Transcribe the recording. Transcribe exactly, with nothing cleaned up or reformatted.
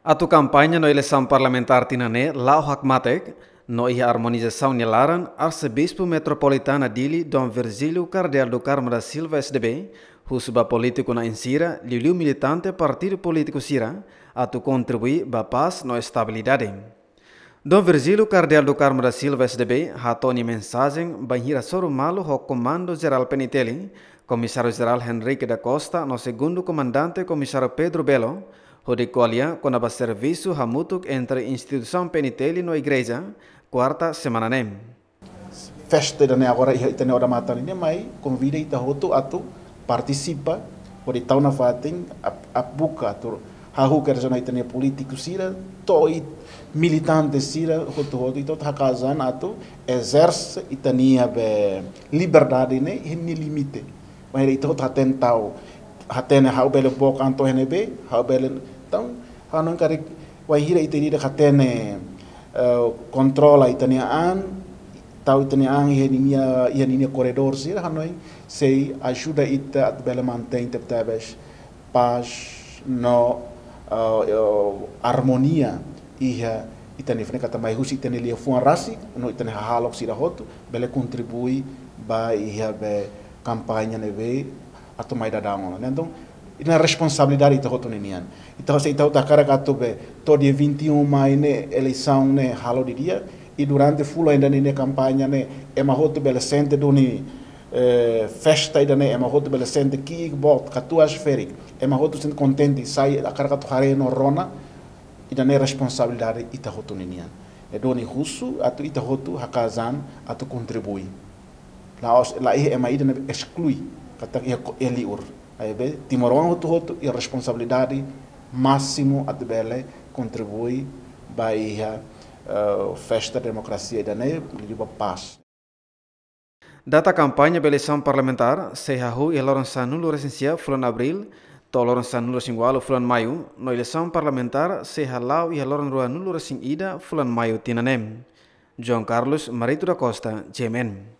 Atu kampaña no eleisaun parlamentár tinan ne'e la'o hakmatek, no iha armonizasaun nia laran, Arsebispu Metropolitana Dili, Dom Virgílio Kardeál do Carmo da Silva, S D B, husu ba polítiku na'in sira, liuliu militante partidu polítiku sira, atu kontribui ba pás no estabilidade. Dom Virgílio Kardeál do Carmo da Silva, S D B, hato'o nia mensajen bainhira hasoru malu ho Komandu Jerál P N T L, Komisáriu Jerál Henrique da Costa, no Segundu Komandante Komisáriu Pedro Belo, hodi ko'alia kona-ba servisu hamutuk entre instituisaun P N T L no igreja, kuarta semana ne'e. Festa ida-ne'e agora iha ita-nia odamatan ne'e, mai konvida ita hotu atu partisipa, hodi tau nafatin, ap-, ap-, buka atu hahú kedas ona ita-nia polítiku sira, to'o ita-nia militante sira, hotu-hotu, ita hotu hakaas an atu ezerse ita-nia be liberdade ne'e iha nia limite. Bainhira ita hotu hatene tau, hatene ha'u bele book an to'o iha ne'ebé, ha'u bele, entaun, ha'u hanoin karik, bainhira ita ida-idak hatene, eh, kontrola ita-nia an, tau ita-nia an iha ninia, iha ninia koredór sira, hanoin sei ajuda ita atu bele mantein tebetebes pás no, eh, eh, armonia iha ita-nia, ne'e katak mai husi ita-nia liafuan rasik, no ita-nia hahalok sira hotu, bele kontribui ba iha be kampaña ne'ebé atu mai daudaun ona. Entaun, ida-ne'e responsabilidade ita hotu ninian. Ita hotu, ita hotu hakarak atu be, to'o dia vinte e um Mai ne'e, eleisaun ne'e halo didi'ak, i durante fulan ida-ne'e nia kampaña ne'e, ema hotu bele sente duni, eh, festa ida-ne'e, ema hotu bele sente ki'ik boot, katuas ferik, ema hotu sente kontente, sai hakarak atu haree no rona, ida-ne'e responsabilidade ita hotu ninian. Ne'e duni husu atu ita hotu hakaas an atu kontribui. La'ós, la iha ema ida ne'ebé esklui, katak iha ko-, iha liur. Ne'ebé, timoroan hotu-hotu iha responsabilidade másimu atu bele kontribui ba iha, eh, festa demokrasia ida-ne'e, liuliu ba pás. Data kampaña ba eleisaun parlamentár sei hahú iha loron sanulu-resin-sia fulan Abríl, to'o loron sanulu-resin-ualu fulan Maiu, no eleisaun parlamentár sei hala'o iha loron ruanulu-resin-ida fulan Maiu tinan ne'e. João Carlos Marito da Costa, G M N.